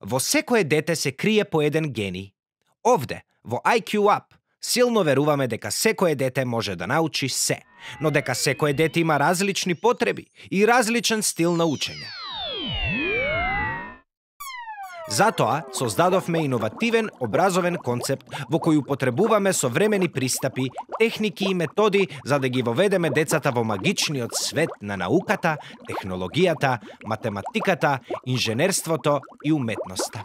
Во секое дете се крие по еден гени. Овде, во IQ Up, силно веруваме дека секое дете може да научи се, но дека секое дете има различни потреби и различен стил на учење. Затоа создадовме иновативен образовен концепт во кој употребуваме современи пристапи, техники и методи за да ги воведеме децата во магичниот свет на науката, технологијата, математиката, инженерството и уметноста.